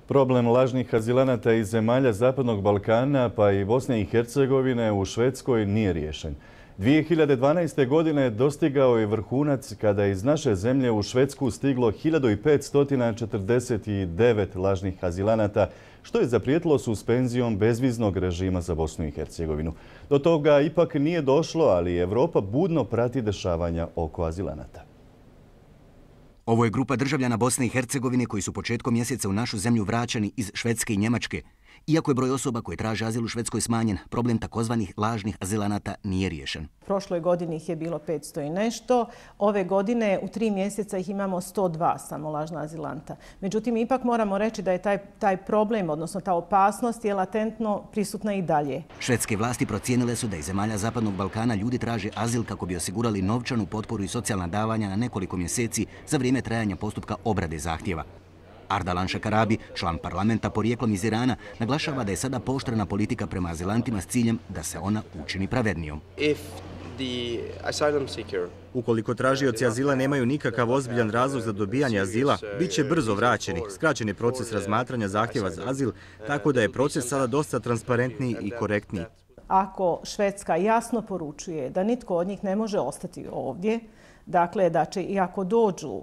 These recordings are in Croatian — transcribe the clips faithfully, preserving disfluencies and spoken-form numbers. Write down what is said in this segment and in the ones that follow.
Problem lažnih azilanata iz zemalja Zapadnog Balkana pa i Bosne i Hercegovine u Švedskoj nije riješen. dvije hiljade dvanaeste. godine dostigao je vrhunac kada je iz naše zemlje u Švedsku stiglo hiljadu petsto četrdeset devet lažnih azilanata, što je zaprijetilo suspenzijom bezviznog režima za Bosnu i Hercegovinu. Do toga ipak nije došlo, ali Europa budno prati dešavanja oko azilanata. Ovo je grupa državljana Bosne i Hercegovine koji su početkom mjeseca u našu zemlju vraćani iz Švedske i Njemačke. Iako je broj osoba koje traže azil u Švedskoj smanjen, problem takozvanih lažnih azilanata nije riješen. Prošloj godini ih je bilo petsto i nešto. Ove godine u tri mjeseca ih imamo sto dva samo lažna azilanta. Međutim, ipak moramo reći da je taj, taj problem, odnosno ta opasnost je latentno prisutna i dalje. Švedske vlasti procijenile su da iz zemalja Zapadnog Balkana ljudi traže azil kako bi osigurali novčanu potporu i socijalna davanja na nekoliko mjeseci za vrijeme trajanja postupka obrade zahtjeva. Ardalan Šekarabi, član parlamenta porijeklom iz Irana, naglašava da je sada pooštrena politika prema azilantima s ciljem da se ona učini pravednijom. Ukoliko tražioci azila nemaju nikakav ozbiljan razlog za dobijanje azila, bit će brzo vraćeni. Skraćen je proces razmatranja zahtjeva za azil, tako da je proces sada dosta transparentniji i korektniji. Ako Švedska jasno poručuje da nitko od njih ne može ostati ovdje, dakle, da će i ako dođu uh,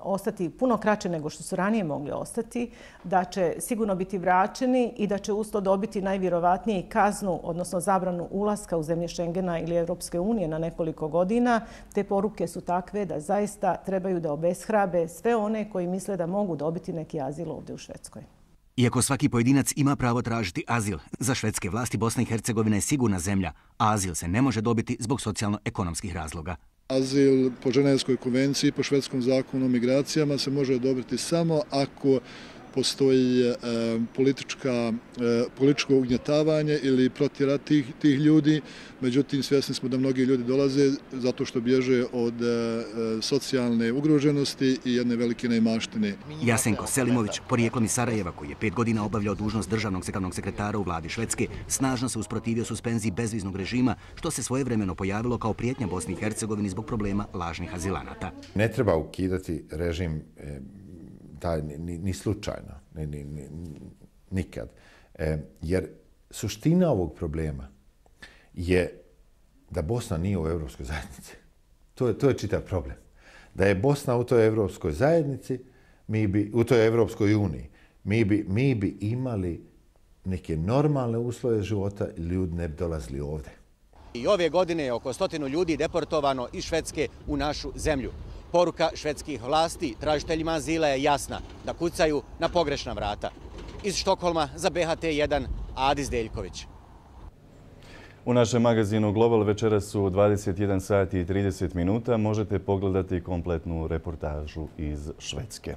ostati puno kraće nego što su ranije mogli ostati, da će sigurno biti vraćeni i da će usto dobiti najvjerovatnije kaznu, odnosno zabranu ulaska u zemlje Schengena ili Europske unije na nekoliko godina. Te poruke su takve da zaista trebaju da obeshrabe sve one koji misle da mogu dobiti neki azil ovdje u Švedskoj. Iako svaki pojedinac ima pravo tražiti azil, za švedske vlasti Bosna i Hercegovina je sigurna zemlja, a azil se ne može dobiti zbog socijalno-ekonomskih razloga. Azil po Ženevskoj konvenciji, po švedskom zakonu o migracijama se može odobriti samo ako postoji e, politička, e, političko ugnjetavanje ili protjera tih, tih ljudi. Međutim, svjesni smo da mnogi ljudi dolaze zato što bježe od e, socijalne ugroženosti i jedne velike neimaštine. Jasenko Selimović, porijeklom iz Sarajeva, koji je pet godina obavljao dužnost državnog sekretnog sekretara u vladi Švedske, snažno se usprotivio suspenziji bezviznog režima, što se svojevremeno pojavilo kao prijetnja Bosni i Hercegovini zbog problema lažnih azilanata. Ne treba ukidati režim e, taj, ni, ni slučajno, ni, ni, ni, nikad. E, jer suština ovog problema je da Bosna nije u Europskoj zajednici. To je, to je čitav problem. Da je Bosna u toj Europskoj zajednici, mi bi, u toj Europskoj uniji, mi bi, mi bi imali neke normalne uslove života i ljudi ne bi dolazili ovdje. I ove godine je oko stotinu ljudi deportovano iz Švedske u našu zemlju. Poruka švedskih vlasti tražiteljima azila je jasna, da kucaju na pogrešna vrata. Iz Štokholma za B H T jedan, Adis Deljković. U našem magazinu Global večeras su dvadeset jedan sati i trideset minuta. Možete pogledati kompletnu reportažu iz Švedske.